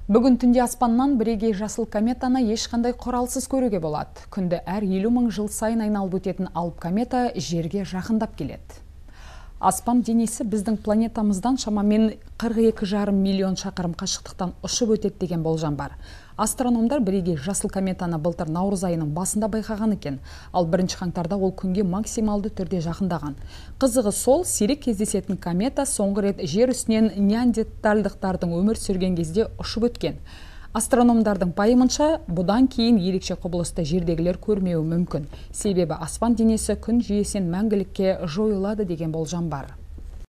Бүгін түнде аспаннан бірегей жасыл кометаны ешқандай құралсыз көруге болады. Күнді әр 50 мың жыл сайын айналып өтетін алып комета жерге жақындап келеді. Аспан денесі біздің планетамыздан шамамен 42,5 миллион шақырым қашықтықтан ұшып өтеді деген болжам бар. Астрономдар бірегей жасыл кометаны былтыр наурыз айының басында байқаған екен, ал 1 қаңтарда ол күнге максималды түрде жақындаған. Қызығы сол, сирек кездесетін комета соңғы рет жер үстінен неандертальдықтардың өмір сүрген кезде ұшып өткен. Астрономдардың пайымынша, бұдан кейін ерекше құбылысты жердегілер көрмеуі мүмкін. Себебі аспан денесі күн жүйесінен мәңгілікке жойылады деген болжам бар.